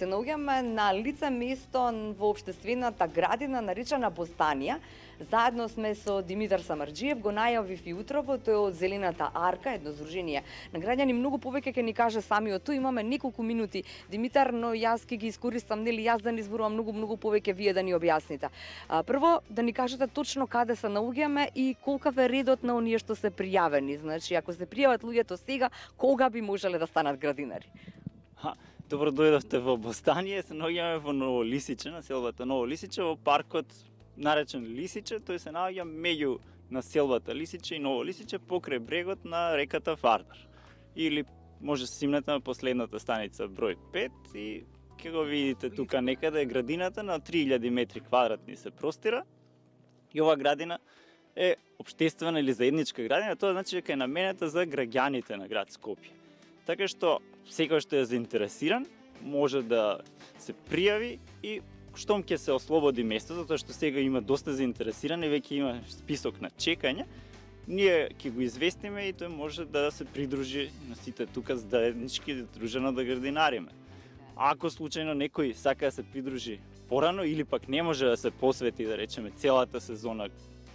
Се наоѓаме на лице место во општествената градина наречена Бостанија. Заедно сме со Димитар Самарџиев, го најавив и утрово, тој од Зелената арка, едно здружение на граѓани, многу повеќе ќе ни каже самиот тој. Имаме неколку минути, Димитар, но јас ќе ги искористам, нели, јас да не зборувам многу повеќе, вие да ни објасните. Прво да ни кажете точно каде се наоѓаме и колкав е редот на оние што се пријавени. Значи, ако се пријават луѓето сега, кога би можеле да станат градинари? Добро дојдовте во Бостанија, се наоѓаме во Ново Лисиче, населбата Ново Лисиче, во паркот наречен Лисиче, тој се наоѓа меѓу населбата Лисиче и Ново Лисиче покрај брегот на реката Вардар. Или може се симнете на последната станица број 5 и ќе го видите тука некаде градината на 3000 метри квадратни се простира. И ова градина е општествена или заедничка градина, тоа значи дека е наменета за граѓаните на град Скопје. Така што секој што е заинтересиран може да се пријави и штом ќе се ослободи место, затоа што сега има доста заинтересирани, веќе има список на чекање, ние ќе го известиме и тој може да се придружи на сите тука заеднички дружено да градинариме. Ако случајно некој сака да се придружи порано или пак не може да се посвети, да речеме, целата сезона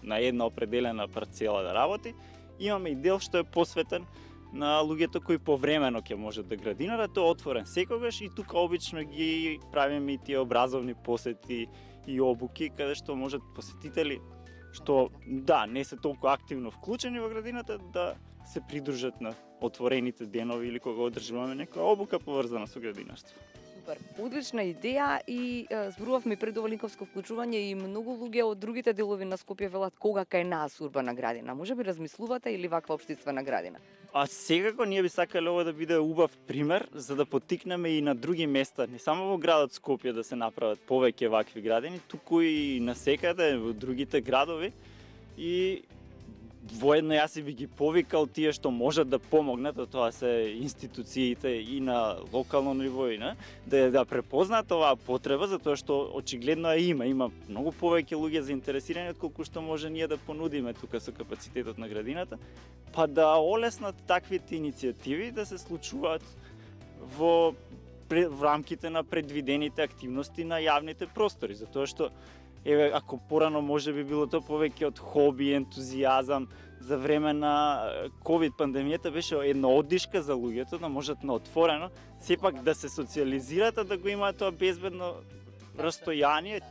на една определена парцела да работи, имаме и дел што е посветен на луѓето кои повремено ќе можат да градинарат. Тој е отворен секогаш и тука обично ги правиме и тие образовни посети и обуки каде што можат посетители што не се толку активно вклучени во градината да се придружат на отворените денови или кога одржуваме некоја обука поврзана со градинарство. Супер, одлична идеја и зборувавме пред ова линковско вклучување и многу луѓе од другите делови на Скопје велат кога кај нас урбана градина. Може би размислувате или ваква општествена градина? Секако ние би сакале ова да биде убав пример за да поттикнеме и на други места, не само во градот Скопје да се направат повеќе вакви градини, туку и насекаде во другите градови. И воедно јас би ги повикал тие што можат да помогнат, а тоа се институциите и на локално ниво и да препознаат оваа потреба, затоа што очигледно има многу повеќе луѓе заинтересирани отколку што може ние да понудиме тука со капацитетот на градината, па да олеснат таквите иницијативи да се случуваат во рамките на предвидените активности на јавните простори, затоа што ако порано може би било тоа повеќе од хоби, ентузијазам, за време на ковид пандемијата беше една оддишка за луѓето да можат на отворено сепак да се социјализираат, да го имаат тоа безбедно растојание,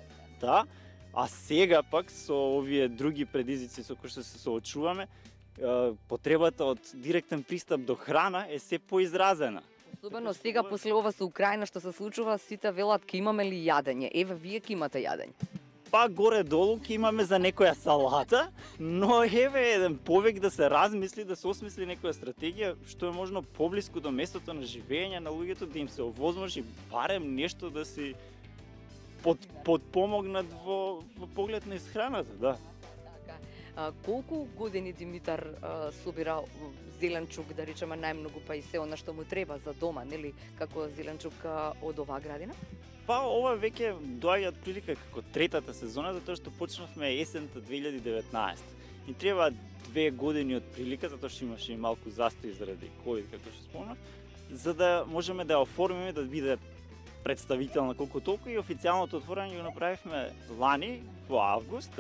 а сега пак со овие други предизвици со кои што се соочуваме, потребата од директен пристап до храна е се поизразена. Особено сега после ова со Украина што се случува, сите велат ке имаме ли јадење. Еве вие ке имате јадење. Па горе-долу ќе имаме за некоја салата, но еве еден повик да се размисли, да се осмисли некоја стратегија што е можно поблиску до местото на живење на луѓето, да им се овозможи барем нешто да си подпомогнат во поглед на исхраната, Колку години Димитар собира зеленчук, да речеме најмногу, па и се она што му треба за дома, нели, како зеленчук од оваа градина? Па ова веќе доаѓа отприлика како третата сезона, затоа што почнавме есента 2019. И треба 2 години отприлика, затоа што имаше и малку застој заради ковид, како што спомнав, за да можеме да ја оформиме да биде представителна колку толку, и официјалното отворање го направивме лани во август,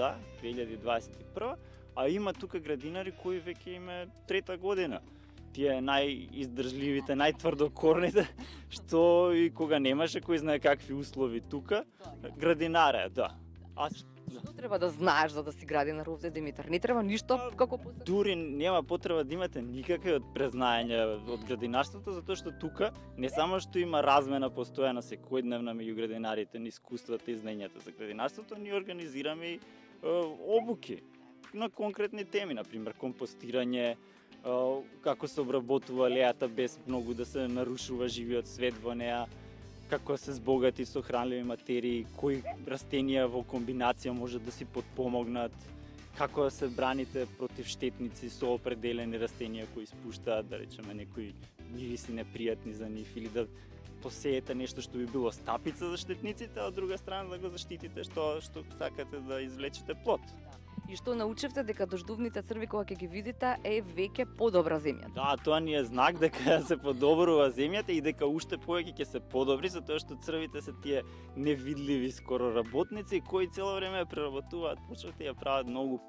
2021, а има тука градинари кои веќе име трета година. Тие најиздржливите, најтврдокорните, што и кога немаше кој знае какви услови тука, градинаре, Што треба да знаеш за да си градинар овде, Димитар? Не треба ништо како посебно? Дури нема потреба да имате никакви презнаења од градинарството, затоа што тука не само што има размена постојана секојдневна меѓу градинарите на искуствата и знаењата за градинарството, ние организираме и обуки на конкретни теми, например компостирање, како се обработува лејата без многу да се нарушува живиот свет во неа, како се збогати со хранливи материи, кои растенија во комбинација може да си подпомогнат, како да се браните против штетници со определени растенија кои испуштаат, да речеме, некои мириси непријатни за нив, или да посеете нешто што би било стапица за штетниците, а од друга страна да го заштитите што сакате да извлечете плод. И што научивте дека дождувните црви кога ќе ги видите е веќе подобра земјата. Да, тоа ни е знак дека се подобрува земјата и дека уште повеќе ќе се подобри, затоа што црвите се тие невидливи скоро работници кои цело време ја преработуваат почвата и ја прават многу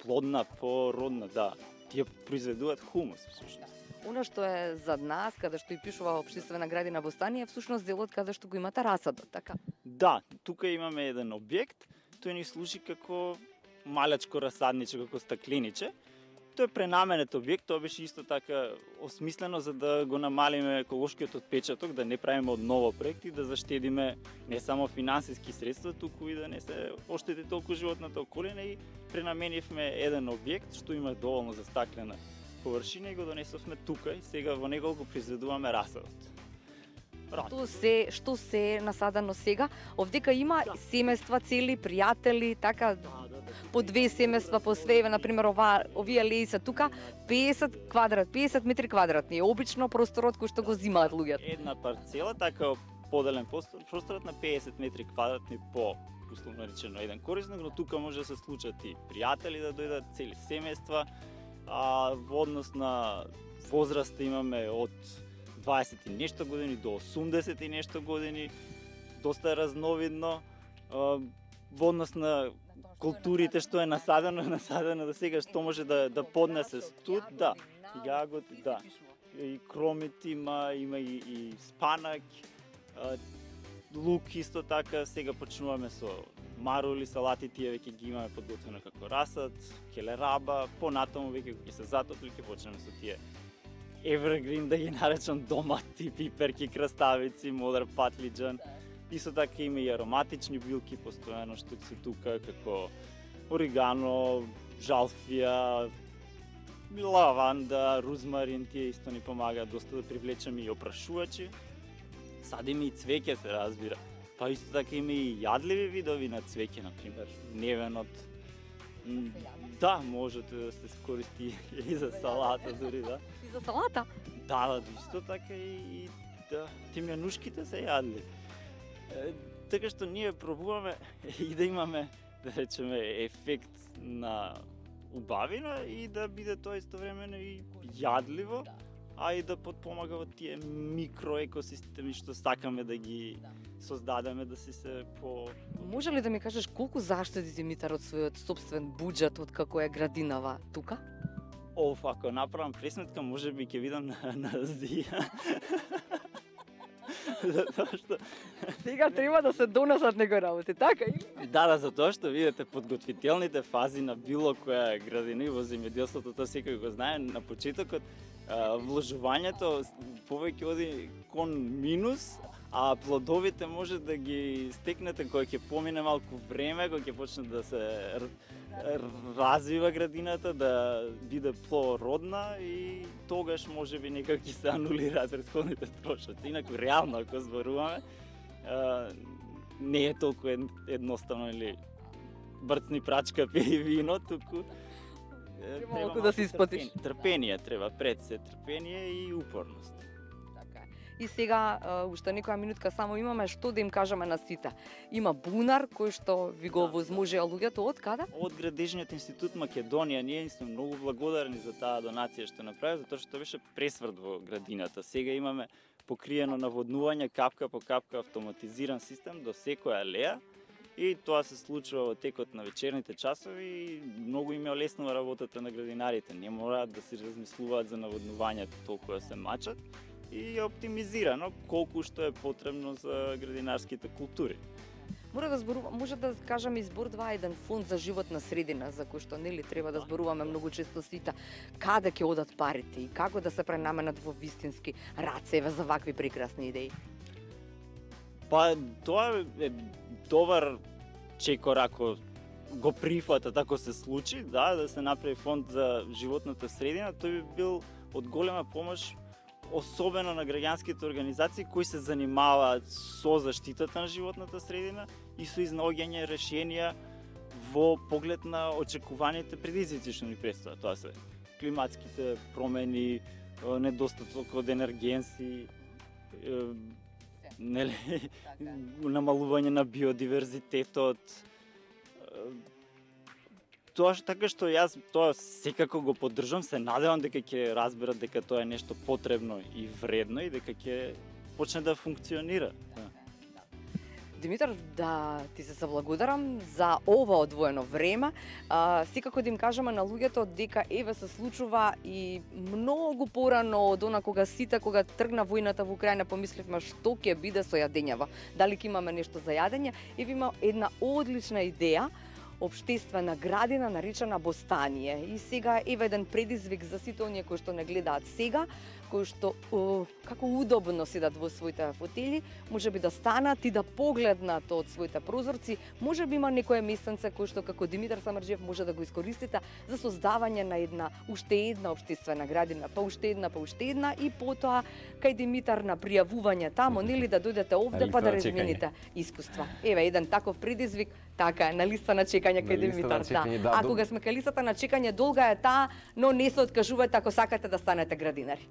плодна, породна, да. Тие произведуваат хумус всушност. Она што е зад нас, каде што и пишува општествена градина Бостание, е всушност делот каде што го имате расадот, така? Да, тука имаме еден објект, тој ни служи како малечко расадниче, како стаклениче. Тој е пренаменет објект, тоа беше исто така осмислено за да го намалиме еколошкиот отпечаток, да не правиме од ново проекти, да заштедиме не само финансиски средства, туку и да не се оштети толку животната околина и пренаменивме еден објект што има доволно за стаклена површина и го донесовме тука и сега во него го произведуваме расадот. Што се насадено сега? Овдека има семејства цели, пријатели, така по 2 семејства по све, например овие леи се тука 50 метри квадратни. Обично просторот кој што го зимаат луѓето. Една парцела, така поделен просторот на 50 метри квадратни по условно речено еден корисник, но тука може да се случат и пријатели да дојдат, цели семејства. Во однос на возраста имаме од 20 и нешто години до 80 и нешто години, доста разновидно. Во однос на културите што е насадено до сега, што може да поднесе студ, да, јагоди, да. И кромит има и спанак, лук исто така, сега почнуваме со марули, салати, тие веќе ги имаме подготвено како расад, келераба, понатаму веќе ќе се затопли, ќе почнеме со тие evergreen, да ги наречам, домати, пиперки, краставици, модер патлиџан. Исто така има и ароматични билки постојано што се тука, како оригано, жалфија, лаванда, рузмарин, тие исто ни помагаат доста да привлечеме и опрашувачи. Садиме и цвеќе, се разбира. Па исто така има и јадливи видови на цвеќе, например, невенот. Да, можете да се користи и за салата дури, да. И за салата? Да, исто така и да, тимјанушките се јадливи. Така што ние пробуваме и да имаме, да речеме, ефект на убавина и да биде тоа истовремено и јадливо, а и да потпомага во тие микроекосистеми што сакаме да ги создадеме, да се по... Може ли да ми кажеш колку заштеди Димитар од својот собствен буџет од како е градинава тука? Ако направам пресметка, може би ќе видам на Азија. Затоа што сега треба да се донесат некои работи, така и? Да, затоа што видите подготвителните фази на било која градина и во земјоделството, тоа секој го знае, на почетокот вложувањето повеќе оди кон минус, а плодовите може да ги стекнете кога ќе помине малку време, кога ќе почне да се развива градината, да биде плодородна и тогаш може би некако ќе се анулираат претходните трошоци. Инаку реално ако зборуваме, не е толку едноставно или брцни прачка пи вино, туку треба малку да се испатиш. Трпение треба, пред се трпение и упорност. И сега, уште некоја минутка само имаме, што да им кажеме на сите. Има бунар кој што ви го возможија луѓето од каде? Од Градежниот институт Македонија. Ние сме многу благодарни за таа донација што направи, затоа што беше пресврт во градината. Сега имаме покриено наводнување капка по капка автоматизиран систем до секоја алеја и тоа се случува во текот на вечерните часови и многу им олеснува работата на градинарите. Не мораат да се размислуваат за наводнувањето толку да се мачат и е оптимизирано колку што е потребно за градинарските култури. Може да кажам избор 2 еден фонд за животна средина за кој што нели треба да зборуваме многу често сите. Каде ќе одат парите и како да се пренаменат во вистински рацева за вакви прекрасни идеи? Па тоа е добар чекор ако го прифатат, ако се случи, да се направи фонд за животната средина, тој би бил од голема помош особено на граѓанските организации кои се занимаваат со заштитата на животната средина и со изнаоѓање решенија во поглед на очекуваните предизвици што ни предстојат. Тоа се климатските промени, недостаток од енергенси, намалување на биодиверзитетот, тоа што така што јас тоа секако го поддржам, се надевам дека ќе разберат дека тоа е нешто потребно и вредно и дека ќе почне да функционира. Димитар, да ти се заблагодарам за ова одвоено време. Секако да им кажеме на луѓето дека еве се случува и многу порано од она кога тргна војната во Украина, помисливме што ќе биде со јадењава. Дали ќе имаме нешто за јадење? Еве има една одлична идеја, општествена градина наречена Бостание. И сега еве еден предизвик за сите оние кои што не гледаат сега, кои што како удобно седат во своите фотели, можеби да станат и да погледнат од своите прозорци. Можеби има некое местенце кој што како Димитар Самарџиев може да го искористите за создавање на уште една општествена градина, па уште една и потоа кај Димитар на пријавување тамо, нели да дојдете овде па да размените искуства. Еве еден таков предизвик, така е, на листа на чекање кај Димитар. Да. А кога сме кај листата на чекање, долга е таа, но не се откажувате ако сакате да станете градинари.